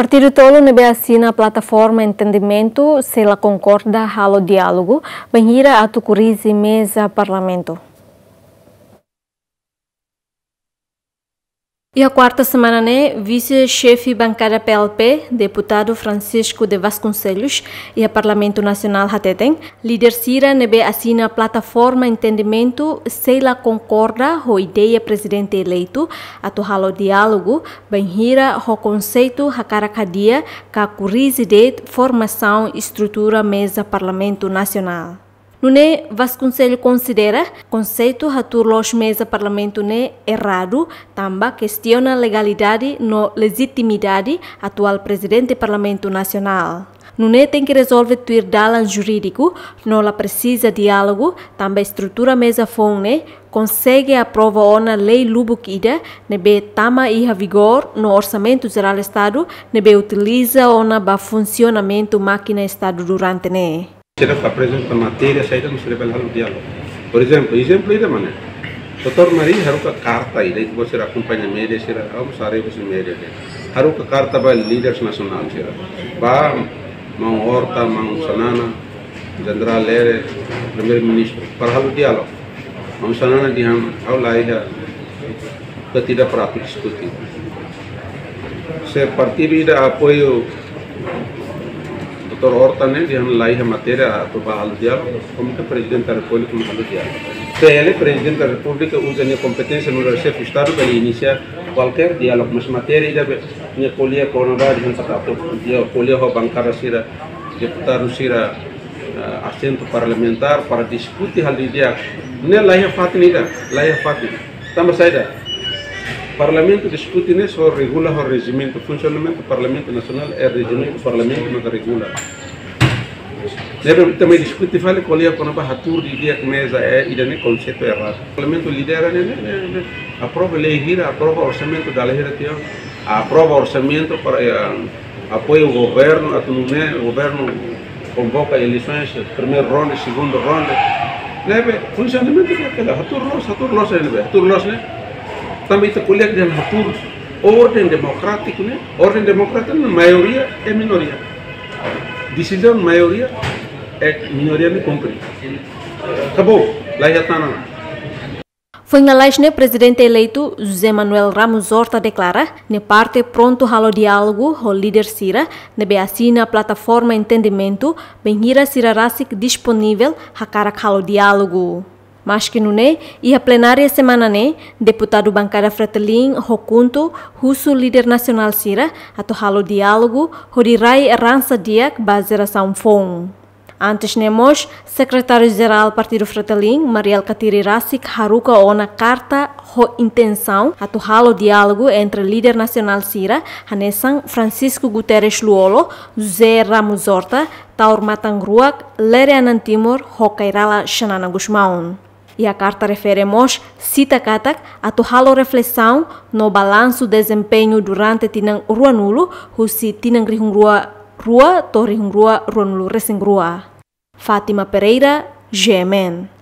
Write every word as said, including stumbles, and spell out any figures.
Partidu tolu ne'ebé asina plataforma entendimentu sei la konkorda halo diálogu, bainhira atu kurije meza parlamentu. Iha kuarta semana ne'e, vise-xefe bankada P L P, deputadu Francisco de Vasconcelos, iha Parlamentu Nasionál hateten, líder sira ne'ebé asina plataforma entendimentu sei la konkorda ho ideia prezidente eleitu atu halo diálogu, bainhira ho konseitu hakarak hadi'a ka kurije de'it formasaun estrutura meza Parlamentu Nasionál. Nune'e Vasconcelos konsidera konseitu hatuur loos meza parlamentu ne'e erradu, tanba kestiona legalidade no lejitimidade atuál prezidente Parlamentu Nasionál. Nune'e tenke rezolve tuir dalan jurídiku, no la presiza diálogu, tanba estrutura meza foun ne'e konsege aprova ona lei lubuk ida ne'ebé tama iha vigór no Orsamentu Jerál Estadu ne'ebé utiliza ona ba funsionamentu mákina Estadu durante ne'e. Sira aprezenta matéria saida mak sira bele halo diálogu. Por ezemplu, ezemplu ida mak ne'e. Doutór Mari haruka karta ida, ita-boot sira akompaña média sira, ha'u mós haree husi média de'it. Haruka karta ba líderes nasionál sira. Ba maun Horta, maun Xanana, Jenerál Lere, Primeiru-Ministru, para halo diálogu. Maun Xanana dehan, ha'u la iha partida para atu diskute. Se partidu ida apoia Doutór Horta ne'e, dehan la iha matéria atu ba halo diálogu, komu ke Prezidente da Repúblika mak halo diálogu? Se ele, Prezidente da Repúblika, uza nia kompeténsia nu'udar xefe Estadu bele inisia kualkér diálogu, mas matéria ida be, nia ko'alia kona-ba, dehan atu, nia ko'alia ho bankada sira, deputadu sira, eh, asentu parlamentár para diskute hal di'ak. Ne'e la iha fatin ida, la iha fatin. Tanba saida? Parlamentu diskute ne'e só regula ho rejimentu, funsionamentu Parlamentu Nasionál é rejimentu Parlamentu mak regula. Ne'ebé ita mai diskute fali ko'alia kona-ba hatuur didi'ak meza, eh, ida-ne'e konseitu erradu. Parlamentu lidera ne'e, ne'e, ne'e, ne'e aprova lei hira, aprova orsamentu dala hira tiha ona, aprova orsamentu para, eh, apoia governu, atu nune'e governu konvoka eleisoens, primeiru ronde, segundu ronde. Ne'ebé funsionamentu ne'e hela, hatuur loos, hatuur loos ne'ebé, hatuur loos ne'e. Tanba ita ko'alia dehan hatuur orden demokrátiku ne'e, orden demokrátiku ne'e maioria é minoria. Desizaun maioria é minoria ne'e kumpre. Akabou, la iha tan ona. Foin lalais ne'e, prezidente eleitu José Manuel Ramos Horta deklara nia parte prontu halo diálogu ho líder sira ne'ebé asina plataforma entendimentu, bainhira sira rasik disponivel hakarak halo diálogu. Maski nune'e, iha plenária semana ne'e, deputadu bankada Fretilin Hokunto husu líder nasionál sira atu halo diálogu hodi rai eransa di'ak ba jerasaun foun. Antes ne'e mós, Sekretáriu-Jerál Partidu Fretilin, Mari Alkatiri rasik haruka ona karta ho intensaun atu halo diálogu entre líder nasionál sira, hanesan Francisco Guterres Lú-Olo, José Ramos Horta, Taur Matan Ruak, Lere Anan Timor, ho Kay Rala Xanana Gusmão. Iha karta refere mós sita katak atu halo reflesaun no balansu dezempeñu durante tinan ruanulu, husi tinan rihun rua rua to'o rihun rua ruanulu resin rua. Fátima Pereira, G M N.